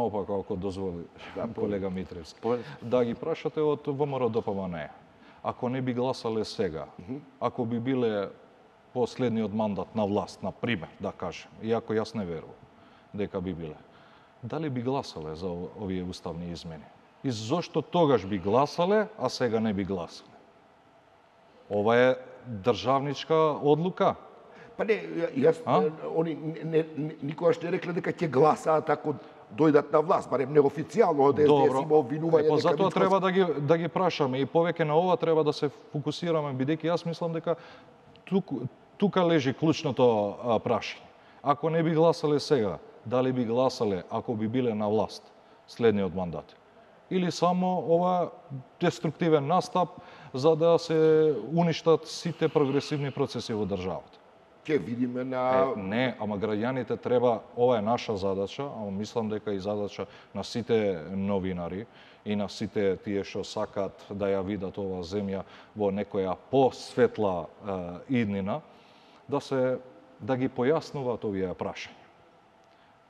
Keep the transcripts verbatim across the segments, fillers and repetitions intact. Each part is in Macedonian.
Опака, ако дозволи, Да, колега Митревски. По... Да ги прашате од ВМРО-ДПМНЕ. Ако не би гласале сега, mm -hmm. ако би биле последниот мандат на власт, на пример, да кажем, иако јас не верувам дека би биле, дали би гласале за овие уставни измени? И зошто тогаш би гласале, а сега не би гласале? Ова е државничка одлука. Па не, јас, они не, не, никогаш не рекле дека ќе гласаат ако дојдат на власт, барем неофицијално од ес има обвинување дека затоа треба да ги да ги прашаме и повеќе на ова треба да се фокусираме, бидејќи јас мислам дека тук, тука лежи клучното а, прашање. Ако не би гласале сега, дали би гласале ако би биле на власт следниот мандат? Или само ова деструктивен настап за да се уништат сите прогресивни процеси во државата? Ќе видиме на... Е, не, ама граѓаните треба, ова е наша задача, ама мислам дека и задача на сите новинари и на сите тие што сакаат да ја видат оваа земја во некоја посветла е, иднина, да се да ги појаснуваат овие прашања.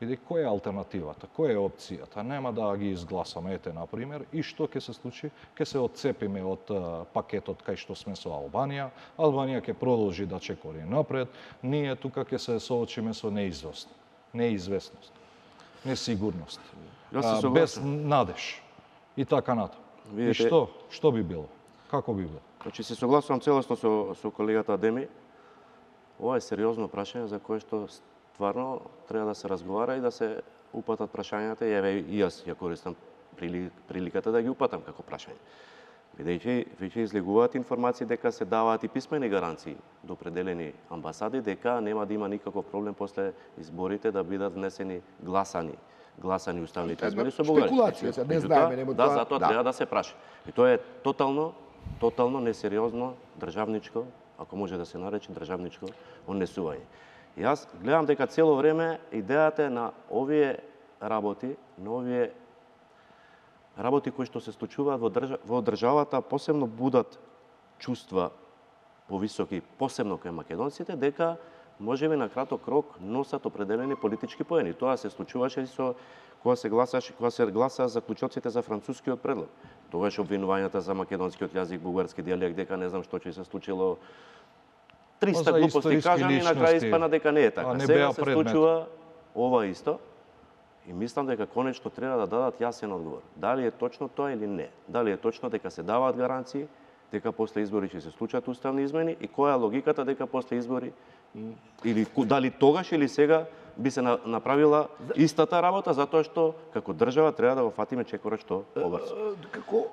Види, која е алтернативата, која е опцијата? Нема да ги изгласаме, ете, например, и што ќе се случи? Ќе се отцепиме од uh, пакетот кај што сме со Албанија, Албанија ќе продолжи да чекори напред, ние тука ќе се соочиме со неизвестност, неизвестност, несигурност, а, без надеж и така натаму. И што? Што би било? Како би било? Значи, се согласувам целосно со, со колегата Адеми. Ова е сериозно прашање за кое што стварно треба да се разговара и да се упатат прашањата, и еве и јас ја користам приликата да ги упатам како прашање. Бидејќи веќе излегуваат информации дека се даваат и писмени гаранции до определени амбасади дека нема да има никаков проблем после изборите да бидат внесени гласани гласани уставните измени со Бугарија. Спекулација, се не знаеме, нема да, тоа. затоа да. треба да се праша. И тоа е тотално тотално несериозно државничко, ако може да се нарече државничко однесување. Јас гледам дека цело време идејата е на овие работи, на овие работи кои што се случуваат во, држа, во државата, посебно будат чувства повисоки, посебно кај македонците, дека можеби на краток рок носат определени политички поени. Тоа се случуваше и со кога се гласаше, кога се гласа заклучоците за францускиот предлог. Тогаш обвинувањата за македонскиот јазик, бугарски дијалект, дека не знам што ќе се случило, триста глупости кажани и на крај испана дека не е така. Не Сега се предмет. случува ова исто и мислам дека конечно треба да дадат јасен одговор. Дали е точно тоа или не? Дали е точно дека се даваат гаранции, дека после избори ќе се случат уставни измени и која е логиката дека после избори или дали тогаш или сега би се направила истата работа, затоа што како држава треба да го фатиме чекорот што побрзо. Како